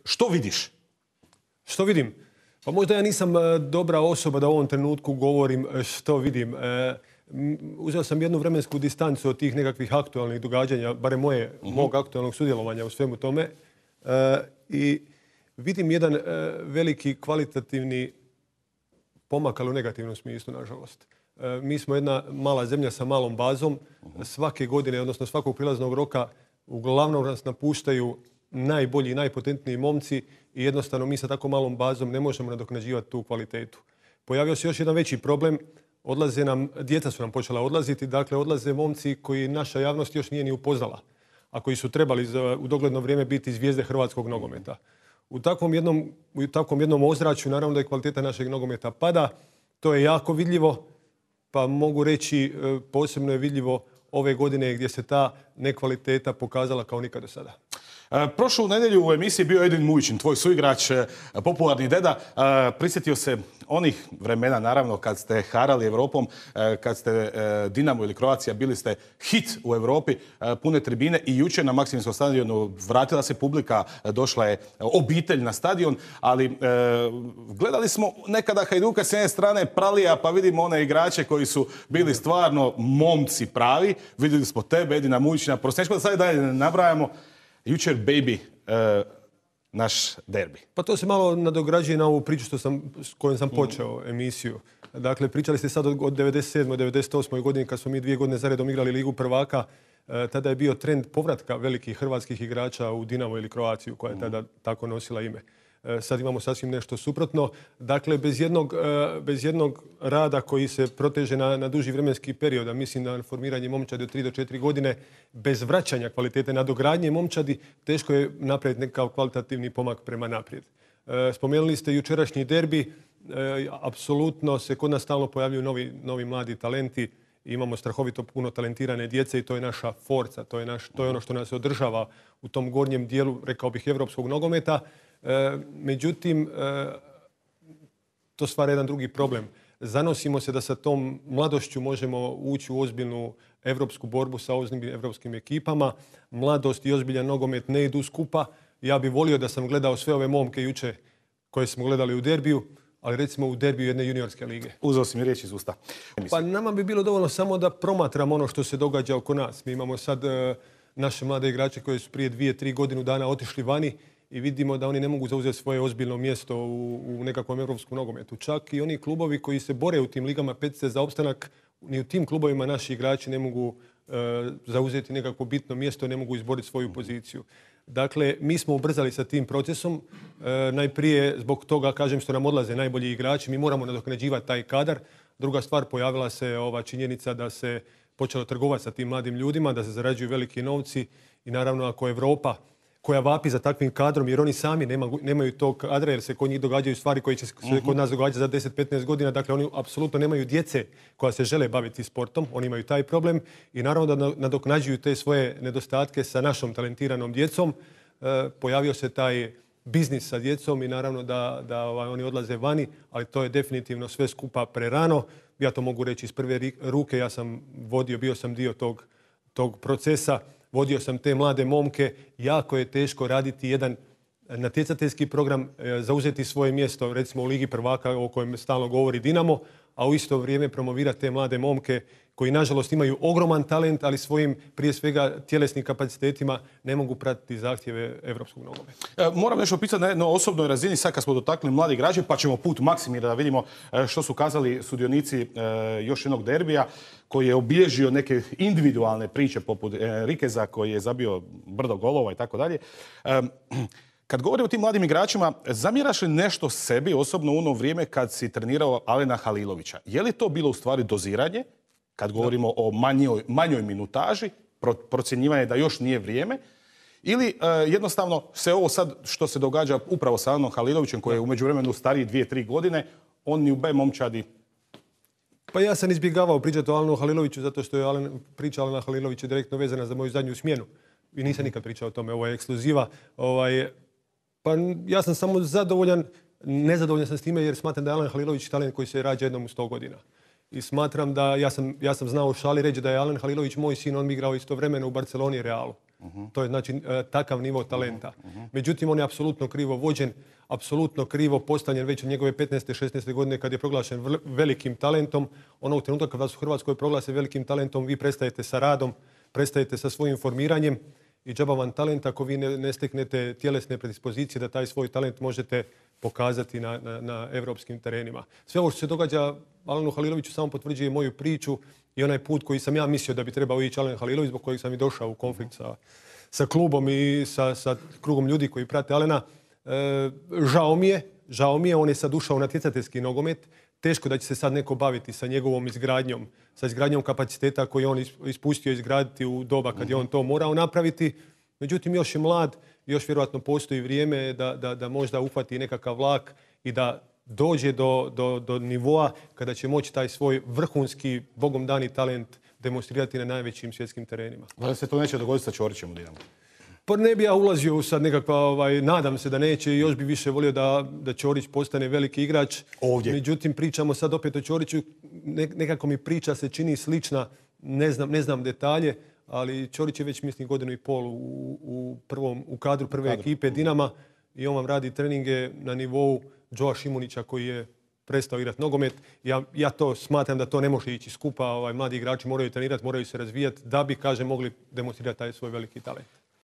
Što vidiš? Što vidim? Pa možda ja nisam dobra osoba da u ovom trenutku govorim što vidim. Uzeo sam jednu vremensku distancu od tih nekakvih aktualnih događanja, barem mog aktualnog sudjelovanja u svemu tome. I vidim jedan veliki kvalitativni pomak, ali u negativnom smislu, nažalost. Mi smo jedna mala zemlja sa malom bazom. Svake godine, odnosno svakog prilaznog roka, uglavnom nas napuštaju najbolji i najpotentniji momci i jednostavno mi sa tako malom bazom ne možemo nadoknađivati tu kvalitetu. Pojavio se još jedan veći problem. Djeca su nam počela odlaziti, dakle odlaze momci koji naša javnost još nije ni upoznala, a koji su trebali u dogledno vrijeme biti zvijezde hrvatskog nogometa. U takvom jednom ozračju naravno da je kvaliteta našeg nogometa pada. To je jako vidljivo, pa mogu reći posebno je vidljivo ove godine gdje se ta nekvaliteta pokazala kao nikad do sada. Prošlu nedjelju u emisiji bio Edin Mujičin, tvoj suigrač, popularni deda. Prisjetio se onih vremena, naravno, kad ste harali Evropom, kad ste Dinamo ili Croatia, bili ste hit u Europi, pune tribine i jučer na Maksimirskom stadionu vratila se publika, došla je obitelj na stadion, ali gledali smo nekada Hajduka s jedne strane Pralija, pa vidimo one igrače koji su bili stvarno momci pravi. Vidjeli smo tebe, Edina Mujičina, prosječko da sad dalje ne nabrajamo. Jučer, baby, naš derbi. Pa to se malo nadograđuje na ovu priču s kojom sam počeo emisiju. Dakle, pričali ste sad od 97. 98. godini kad smo mi 2 godine zaredom igrali Ligu prvaka. Tada je bio trend povratka velikih hrvatskih igrača u Dinamo ili Croaciju koja je tada tako nosila ime. Sad imamo sasvim nešto suprotno. Dakle, bez jednog rada koji se proteže na duži vremenski period, a mislim da formiranje momčadi od 3 do 4 godine, bez vraćanja kvalitete nadogradnje momčadi, teško je napraviti nekakav kvalitativni pomak prema naprijed. Spomenuli ste jučerašnji derbi. Apsolutno se kod nas stalno pojavljuju novi mladi talenti. Imamo strahovito puno talentirane djece i to je naša forca. To je ono što nas održava u tom gornjem dijelu, rekao bih, evropskog nogometa. Međutim, to stvara jedan drugi problem. Zanosimo se da sa tom mladošću možemo ući u ozbiljnu evropsku borbu sa ozbiljnim evropskim ekipama. Mladost i ozbiljan nogomet ne idu skupa. Ja bih volio da sam gledao sve ove momke juče koje smo gledali u derbiju, ali recimo u derbiju jedne juniorske lige. Uzeo si mi riječ iz usta. Pa nama bi bilo dovoljno samo da promatramo ono što se događa oko nas. Mi imamo sad naše mlade igrače koji su prije 2-3 godinu dana otišli vani i vidimo da oni ne mogu zauzeti svoje ozbiljno mjesto u nekakvom evropskom nogometu. Čak i oni klubovi koji se bore u tim ligama petice za opstanak, ni u tim klubovima naši igrači ne mogu zauzeti nekakvo bitno mjesto, ne mogu izboriti svoju poziciju. Dakle, mi smo ubrzali sa tim procesom. Najprije zbog toga, kažem, što nam odlaze najbolji igrači. Mi moramo nadoknađivati taj kadar. Druga stvar, pojavila se ova činjenica da se počelo trgovati sa tim mladim ljudima, da se zarađuju veliki novci i naravno ako Europa koja vapi za takvim kadrom, jer oni sami nemaju tog kadra, jer se kod njih događaju stvari koje će se kod nas događati za 10-15 godina. Dakle, oni apsolutno nemaju djece koja se žele baviti sportom. Oni imaju taj problem i naravno da nadoknađuju te svoje nedostatke sa našom talentiranom djecom. Pojavio se taj biznis sa djecom i naravno da oni odlaze vani, ali to je definitivno sve skupa prerano. Ja to mogu reći iz prve ruke. Ja sam bio sam dio tog procesa. Vodio sam te mlade momke. Jako je teško raditi jedan natjecateljski program, zauzeti svoje mjesto, recimo u Ligi prvaka o kojem stalno govori Dinamo, a u isto vrijeme promovirati te mlade momke koji nažalost imaju ogroman talent, ali svojim prije svega tjelesnim kapacitetima ne mogu pratiti zahtjeve evropskog nogometa. Moram nešto pisati na jednoj osobnoj razini, sad kad smo dotakli mladi igrači, pa ćemo put Maksimira da vidimo što su kazali sudionici još jednog derbija koji je obilježio neke individualne priče poput Rikeza koji je zabio brdo golova i tako dalje. Kad govorimo o tim mladim igračima, zamjeraš li nešto sebi osobno u ono vrijeme kad si trenirao Alena Halilovića? Je li to bilo u stvari doziranje, kad govorimo o manjoj minutaži, procjenjivanje da još nije vrijeme, ili jednostavno se ovo sad što se događa upravo sa Alenom Halilovićem, koji je u međuvremenu stariji 2-3 godine, on ni u B momčadi? Pa ja sam izbjegavao pričati o Alenu Haliloviću zato što je priča Alena Halilovića direktno vezana za moju zadnju smjenu. I nisam nikad pričao o tome, ovo je ekskluziva. Pa ja sam samo nezadovoljan sam s time jer smatram da je Alen Halilović talent koji se rađa jednom u 100 godina. I smatram da, ja sam znao u šali reći da je Alen Halilović moj sin, on mi igrao istovremeno u Barceloni i Realu. To je znači takav nivo talenta. Međutim, on je apsolutno krivo vođen, apsolutno krivo postavljen već od njegove 15. 16. godine kad je proglašen velikim talentom. Onog trenutka kad vas u Hrvatskoj proglase velikim talentom, vi prestajete sa radom, prestajete sa svojim formiranjem i džaba vam talent ako vi ne steknete tjelesne predispozicije da taj svoj talent možete pokazati na evropskim terenima. Sve ovo što se događa Alenu Haliloviću samo potvrđuje moju priču i onaj put koji sam ja mislio da bi trebao ići Alen Halilović, zbog kojeg sam i došao u konflikt sa klubom i sa krugom ljudi koji prate Alena. Žao mi je, on je sad ušao u natjecateljski nogomet. Teško da će se sad neko baviti sa njegovom izgradnjom, sa izgradnjom kapaciteta koji je on ispustio izgraditi u doba kad je on to morao napraviti. Međutim, još je mlad, još vjerojatno postoji vrijeme da možda uhvati nekakav vlak i da dođe do nivoa kada će moći taj svoj vrhunski, bogom dani talent demonstrirati na najvećim svjetskim terenima. Da se to neće dogoditi sa Ćorićem u Dinamu? Pa ne bi ja ulazio u sad nekakva, nadam se da neće i još bi više volio da Ćorić postane veliki igrač. Ovdje. Međutim, pričamo sad opet o Ćoriću, nekako mi priča se čini slična, ne znam detalje, ali Ćorić je već mislim 1,5 godinu u kadru prve ekipe Dinama i on vam radi treninge na nivou Joa Šimunića koji je prestao igrati nogomet. Ja to smatram da to ne može ići skupa. Mladi igrači moraju trenirati, moraju se razvijati da bi, kažem, mogli demonstrirati taj svoj veliki talent.